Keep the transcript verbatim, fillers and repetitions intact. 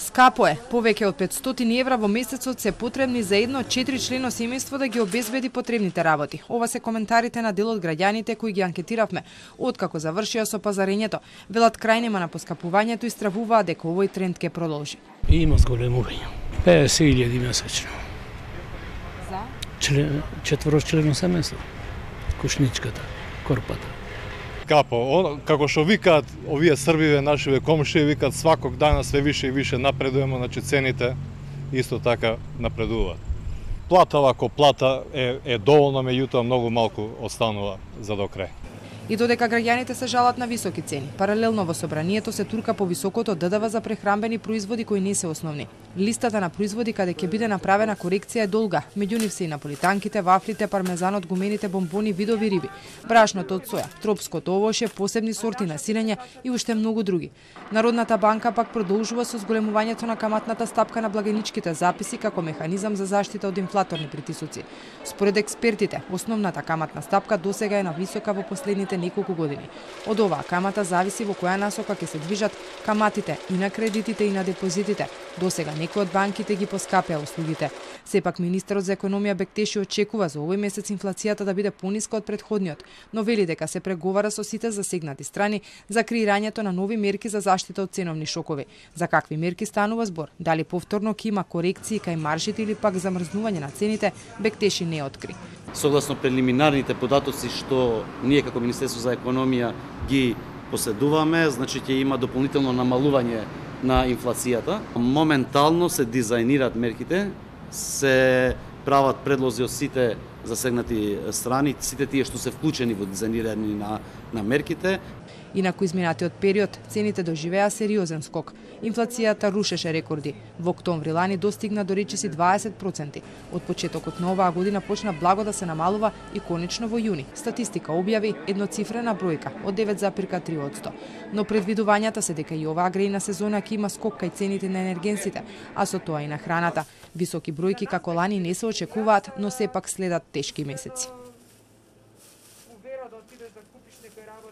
Скапо е. Повеќе од петстотини евра во месецот се потребни за едно четиричлено семејство да ги обезбеди потребните работи. Ова се коментарите на дел од граѓаните кои ги анкетиравме. Откако завршија со пазарењето, велат крај нема на поскапувањето и стравуваат дека овој тренд ќе продолжи. Има зголемување. песет илјади месечно. За? Член, четворочлено семејство. Кушничката, корпата. Скапо, како што викаат овие србиве, нашиве комшии, викаат сваког дана све више и више напредуваме, значи цените исто така напредуваат. Плата вако плата е, е доволно, меѓутоа многу малку останува за до крај. И додека граѓаните се жалат на високи цени, паралелно во собранието се турка по високото ДДВ за прехрамбени производи кои не се основни. Листата на производи каде ќе биде направена корекција е долга, меѓу нив се и наполитанките, вафлите, пармезанот, гумените бомбони, видови риби, брашното од соја, тропското овоше, посебни сорти на сирење и уште многу други. Народната банка пак продолжува со зголемувањето на каматната стапка на благајничките записи како механизам за заштита од инфлаторни притисоци. Според експертите, основната каматна стапка досега е нависока во последните неколку години. Од оваа камата зависи во која насока ќе се движат каматите и на кредитите и на депозитите. Досега некои од банките ги поскапеа услугите. Сепак министерот за економија Бектеши очекува за овој месец инфлацијата да биде пониска од претходниот, но вели дека се преговара со сите засегнати страни за креирањето на нови мерки за заштита од ценовни шокови. За какви мерки станува збор? Дали повторно ќе има корекции кај маржите или пак замрзнување на цените, Бектеши не откри. Согласно прелиминарните податоци што ние како Министерство за економија ги поседуваме, значи ќе има дополнително намалување на инфлацијата. Моментално се дизајнираат мерките, се прават предлози од сите засегнати страни, сите тие што се вклучени во дизајнирање на, на мерките. Инаку изминатиот период цените доживеа сериозен скок. Инфлацијата рушеше рекорди. Во октомври лани достигна до речиси дваесет проценти. Од почетокот на оваа година почна благо да се намалува и конечно во јуни. Статистика објави едноцифрена бројка од девет запирка три одсто. Но предвидувањата се дека и оваа грејна сезона ќе има скок кај цените на енергенсите, а со тоа и на храната. Високи бројки како лани не се очекуваат, но сепак следат тешки месеци.